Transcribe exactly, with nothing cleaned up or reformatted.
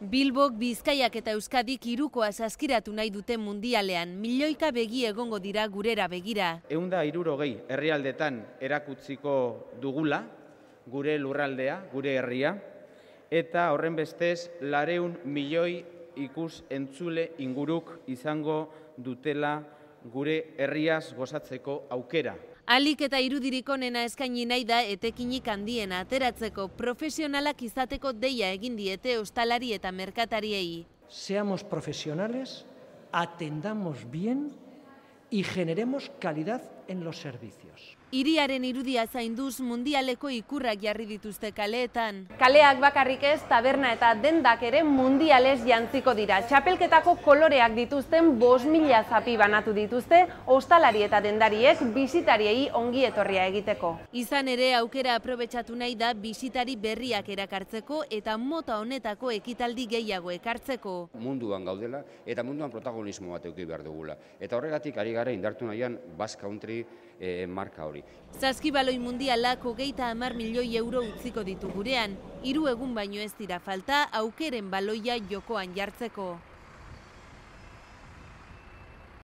Bilbok, Bizkaiak eta Euskadik hirukoa saskiratu nahi dute mundialean, milioika begi egongo dira gurera begira. Ehun eta hirurogei herrialdetan erakutziko dugula, gure lurraldea, gure herria, eta horren bestez lareun milioi ikus entzule inguruk izango dutela gure herriaz gozatzeko aukera. Alik eta irudirik onena eskaini nahi da etekinik handiena ateratzeko profesionalak izateko deia egin diete ostalari eta merkatariei. Seamos profesionales, atendamos bien y generemos calidad en los servicios. Hiriaren irudia zainduz mundialeko ikurrak jarri dituzte kaleetan. Kaleak bakarrik ez, taberna eta dendak ere mundialez jantziko dira. Txapelketako koloreak dituzten bost mila zapi banatu dituzte, ostalari eta dendariek bisitariei ongi etorria egiteko. Izan ere, aukera aprobetxatu nahi da bisitari berriak erakartzeko eta mota honetako ekitaldi gehiago ekartzeko. Munduan gaudela eta munduan protagonismo bat eduki behar dugula. Eta horregatik ari gara indartu nahian Basque Country eh, marka hori. Saskibaloi mundialak hogeita hamar milioi euro utziko ditu gurean, hiru egun baino ez dira falta aukeren baloia jokoan jartzeko.